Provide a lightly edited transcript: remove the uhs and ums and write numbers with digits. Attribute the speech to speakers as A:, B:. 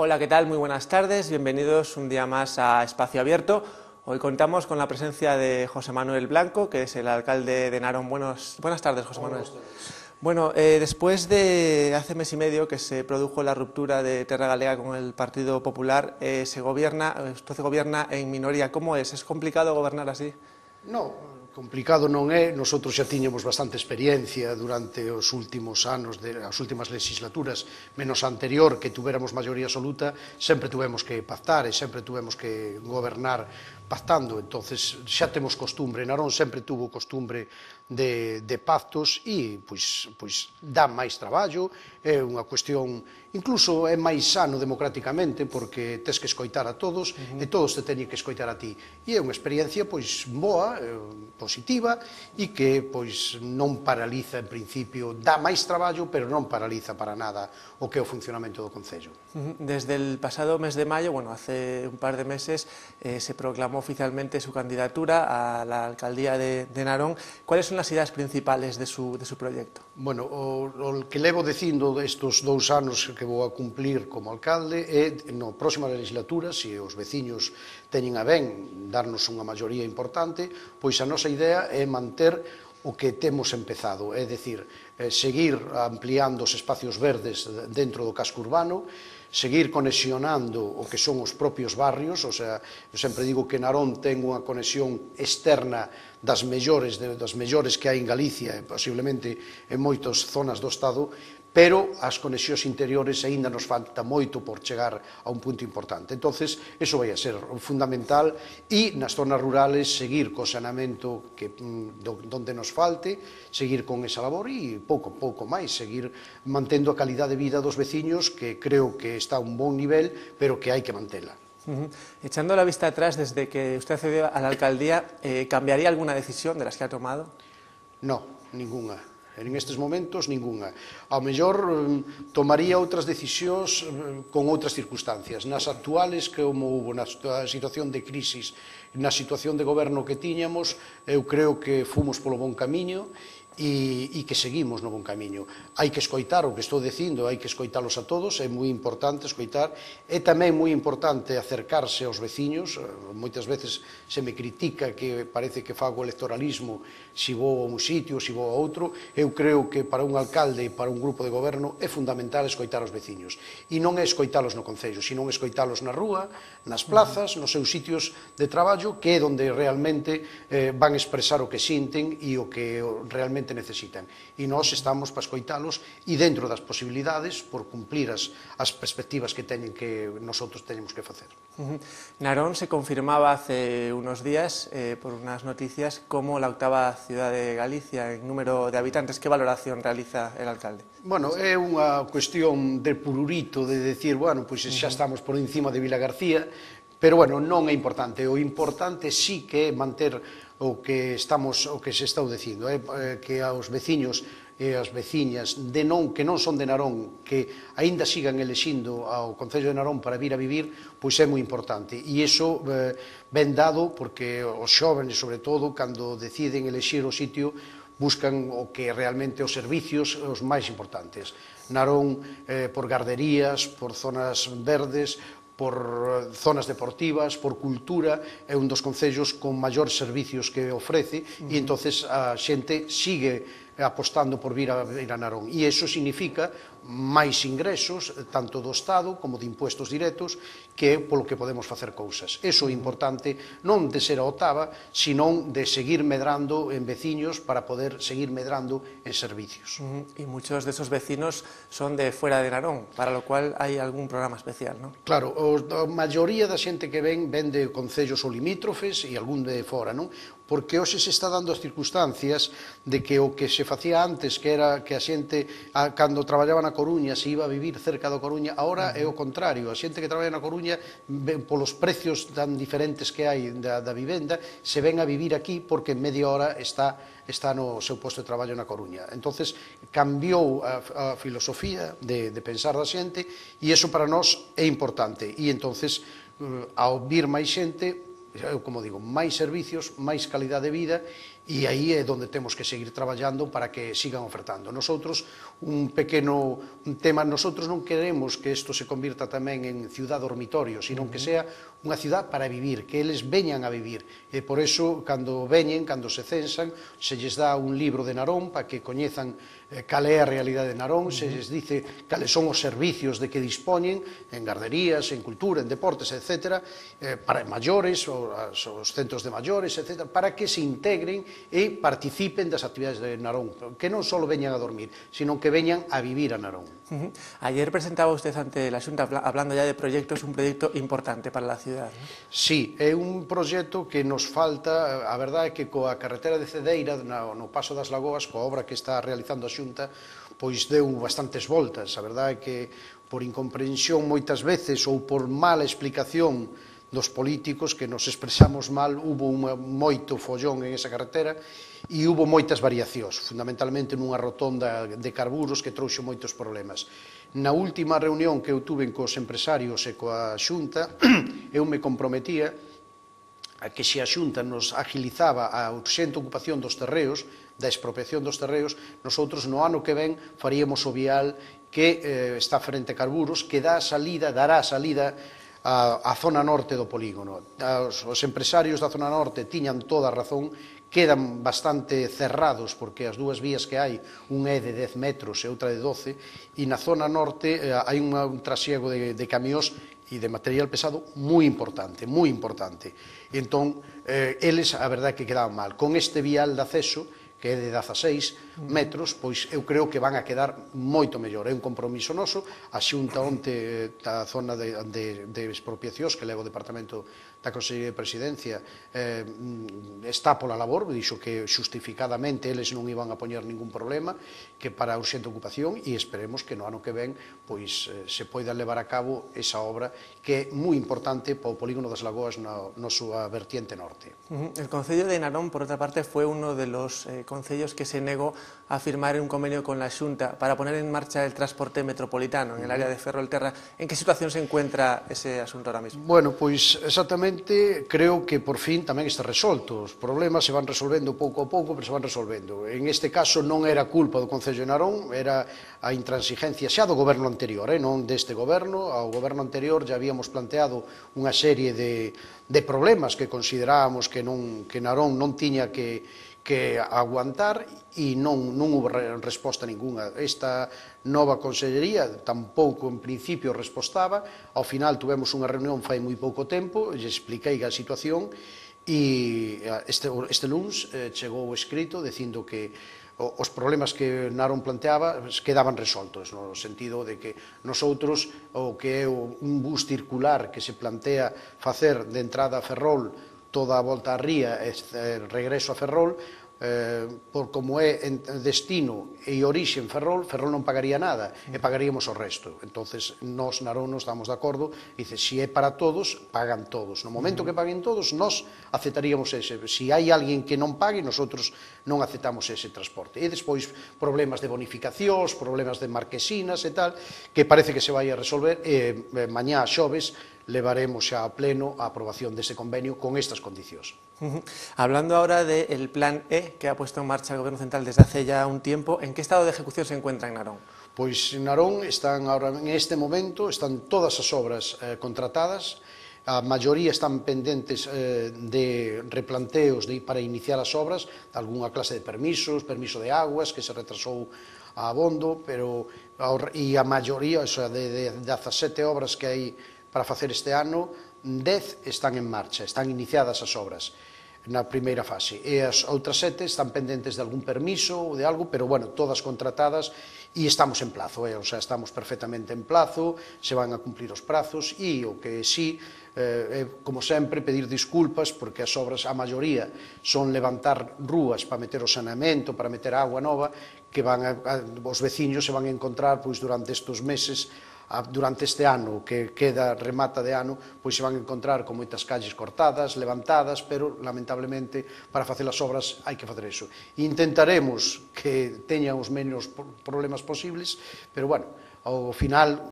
A: Hola, ¿qué tal? Muy buenas tardes, bienvenidos un día más a Espacio Abierto. Hoy contamos con la presencia de José Manuel Blanco, que es el alcalde de Narón. Buenas tardes, José Manuel. Bueno, después de hace mes y medio que se produjo la ruptura de Terra Galega con el Partido Popular, usted gobierna en minoría. ¿Cómo es? ¿Es complicado gobernar así?
B: No, complicado non é. Nosotros xa tiñamos bastante experiencia durante os últimos anos, as últimas legislaturas, menos a anterior, que tuveramos maioría absoluta, sempre tuvemos que pactar e sempre tuvemos que gobernar pactando. Entonces xa temos costumbre, Narón sempre tuvo costumbre de pactos e pois dá máis traballo, é unha cuestión, incluso é máis sano democráticamente porque tes que escoitar a todos e todos te teñen que escoitar a ti. E é unha experiencia pois boa, positiva e que pois non paraliza en principio, dá máis traballo pero non paraliza para nada o que é o funcionamento do Concello.
A: Desde el pasado mes de mayo, bueno, hace un par de meses, se proclamó oficialmente su candidatura a la alcaldía de Narón. ¿Cuáles son las ideas principales de su proyecto?
B: Bueno, o que levo dicindo estes 2 anos que vou a cumplir como alcalde é, na próxima legislatura, se os veciños teñen a ben darnos unha maioría importante, pois a nosa idea é manter o que temos empezado, é dicir, seguir ampliando os espacios verdes dentro do casco urbano, seguir conexionando o que son os propios barrios, o sea, eu sempre digo que Narón ten unha conexión externa das mellores que hai en Galicia e posiblemente en moitas zonas do Estado, pero as conexións interiores aínda nos falta moito por chegar a un punto importante. Entonces, eso vai a ser fundamental e nas zonas rurales seguir co saneamento donde nos falte, seguir con esa labor e pouco máis, seguir mantendo a calidade de vida dos veciños, que creo que está a un bon nivel, pero que hai que mantela.
A: Echando la vista atrás, desde que usted accedió a la alcaldía, ¿cambiaría alguna decisión de las que ha tomado?
B: No, ninguna. En estes momentos, ninguna. Ao mellor tomaría outras decisións con outras circunstancias. Nas actuales, como hubo na situación de crisis, na situación de goberno que tiñamos, eu creo que fomos polo bon camiño e que seguimos no bon camiño. Hai que escoitar o que estou dicindo, hai que escoitalos a todos, é moi importante escoitar, é tamén moi importante acercarse aos veciños. Moitas veces se me critica que parece que fago electoralismo se vou a un sitio, se vou a outro. Eu creo que para un alcalde e para un grupo de goberno é fundamental escoitar os veciños, e non é escoitalos no Concello, sino escoitalos na rúa, nas plazas, nos seus sitios de traballo, que é onde realmente van expresar o que sinten e o que realmente necesitan. E nós estamos para escoitalos e dentro das posibilidades por cumplir as perspectivas que nosotros teñemos que facer.
A: Narón se confirmaba hace unos días por unas noticias como la octava ciudad de Galicia en número de habitantes. ¿Qué valoración realiza el alcalde?
B: Bueno, é unha cuestión de pururito, de decir, bueno, pois xa estamos por encima de Vilagarcía, pero, bueno, non é importante. O importante sí que é manter o que se está dicindo, que aos veciños e as veciñas que non son de Narón, que aínda sigan elixindo ao Concello de Narón para vir a vivir, pois é moi importante. E iso ben dado porque os xóvenes, sobre todo, cando deciden elixir o sitio, buscan o que realmente os servicios os máis importantes. Narón, por garderías, por zonas verdes, por zonas deportivas, por cultura, é un dos concellos con maior servicios que ofrece e entonces a xente sigue apostando por vir a Narón. E iso significa máis ingresos, tanto do Estado como de impuestos directos, que é polo que podemos facer cousas. Iso é importante, non de ser a octava, senón de seguir medrando en veciños para poder seguir medrando en servicios.
A: Y muchos de esos vecinos son de fuera de Narón, para lo cual hay algún programa especial, ¿no?
B: Claro, a maioría da xente que ven de concellos ou limítrofes e algún de fora, non? Porque hoxe se está dando as circunstancias de que o que se facía antes, que era que a xente, cando traballaba na Coruña, se iba a vivir cerca da Coruña, agora é o contrario. A xente que traballa na Coruña, polos precios tan diferentes que hai da vivenda, se ven a vivir aquí porque en media hora está no seu posto de traballo na Coruña. Entonces, cambiou a filosofía de pensar da xente e iso para nós é importante. E entonces, ao vir máis xente, como digo, máis servicios, máis calidade de vida E aí é onde temos que seguir traballando para que sigan ofertando. Nosotros, un tema, nosotros non queremos que isto se convirta tamén en ciudad dormitorio, sino que sea unha ciudad para vivir, que eles veñan a vivir. E por eso, cando veñen, cando se censan, se lles dá un libro de Narón para que coñezan cal é a realidade de Narón, se lles dice cales son os servicios de que dispoñen en garderías, en cultura, en deportes, etc., para maiores, os centros de maiores, etc., para que se integren e participen das actividades de Narón, que non só veñan a dormir, sino que veñan a vivir a Narón.
A: Ayer presentaba usted ante la Xunta, hablando ya de proyectos, un proyecto importante para la ciudad, ¿no?
B: Sí, é un proxecto que nos falta, a verdade é que coa carretera de Cedeira, no Paso das Lagoas, coa obra que está realizando a Xunta, pois deu bastantes voltas. A verdade é que por incomprensión moitas veces ou por mala explicación dos políticos que nos expresamos mal, hubo moito follón en esa carretera e hubo moitas variacións, fundamentalmente nunha rotonda de carburos que trouxe moitos problemas. Na última reunión que eu tuve cos empresarios e coa Xunta, eu me comprometía a que se a Xunta nos agilizaba a urxente ocupación dos terreos, da expropiación dos terreos, nosotros no ano que ven faríamos o vial que está frente a carburos, que dará salida a zona norte do polígono. Os empresarios da zona norte tiñan toda a razón, quedan bastante cerrados porque as dúas vías que hai, un é de 10 metros e outra de 12, e na zona norte hai un trasiego de camións e de material pesado moi importante, moi importante. Entón, eles, a verdade é que quedaban mal. Con este vial de acceso, que é de 16 metros, pois eu creo que van a quedar moito mellor. É un compromiso noso. A Xunta onte da zona de expropiacións que leva o Departamento da Consellería de Presidencia está pola labor, dixo que xustificadamente eles non iban a poñer ningún problema, que para a urxente ocupación, e esperemos que no ano que ven pois se poida levar a cabo esa obra que é moi importante para o polígono das Lagoas na súa vertiente norte.
A: El Concello de Narón, por otra parte, fue uno de los concellos que se negó a firmar un convenio con la Xunta para poner en marcha el transporte metropolitano en el área de Ferrolterra. ¿En qué situación se encuentra ese asunto ahora mismo?
B: Bueno, pois exactamente creo que por fin tamén está resolto. Os problemas se van resolvendo pouco a pouco, pero se van resolvendo. En este caso non era culpa do Concello de Narón, era a intransigencia xa do goberno anterior, non deste goberno. Ao goberno anterior já habíamos planteado unha serie de problemas que considerábamos que Narón non tiña que aguantar e non houve resposta ninguna. Esta nova consellería tampouco en principio respostaba. Ao final tuvemos unha reunión fai moi pouco tempo, lle expliquei a situación e este luns chegou o escrito dicindo que os problemas que Narón planteaba quedaban resoltos, no sentido de que nosotros o que é un bus circular que se plantea facer de entrada a Ferrol toda a volta á ría e regreso a Ferrol, por como é destino e orixe en Ferrol, Ferrol non pagaría nada e pagaríamos o resto. Entonces, nós, Narón, nos estamos de acordo, dice, se é para todos, pagan todos. No momento que paguen todos, nós aceptaríamos ese. Se hai alguén que non pague, nosotros non aceptamos ese transporte. E despois, problemas de bonificacións, problemas de marquesinas e tal, que parece que se vai a resolver, e mañá xoves levaremos xa a pleno a aprobación dese convenio con estas condicións.
A: Hablando ahora del Plan E que ha puesto en marcha el Gobierno Central desde hace ya un tiempo, ¿en qué estado de ejecución se encuentra en Narón?
B: Pois en Narón están ahora, en este momento, están todas as obras contratadas, a maioría están pendentes de replanteos para iniciar as obras, algunha clase de permiso de aguas que se retrasou a abondo, e a maioría, o sea, de 17 obras que hai para facer este ano, 10 están en marcha, están iniciadas as obras na primeira fase, e as outras 7 están pendentes de algún permiso ou de algo, pero, bueno, todas contratadas e estamos en plazo, o sea, estamos perfectamente en plazo, se van a cumplir os prazos e o que sí, como sempre, pedir disculpas porque as obras, a maioría, son levantar rúas para meter o saneamento, para meter agua nova, que os veciños se van a encontrar durante estes meses, durante este ano que remata de ano, pois se van a encontrar con moitas calles cortadas, levantadas, pero lamentablemente para facer as obras hai que facer iso. Intentaremos que teñan os menos problemas posibles, pero bueno, ao final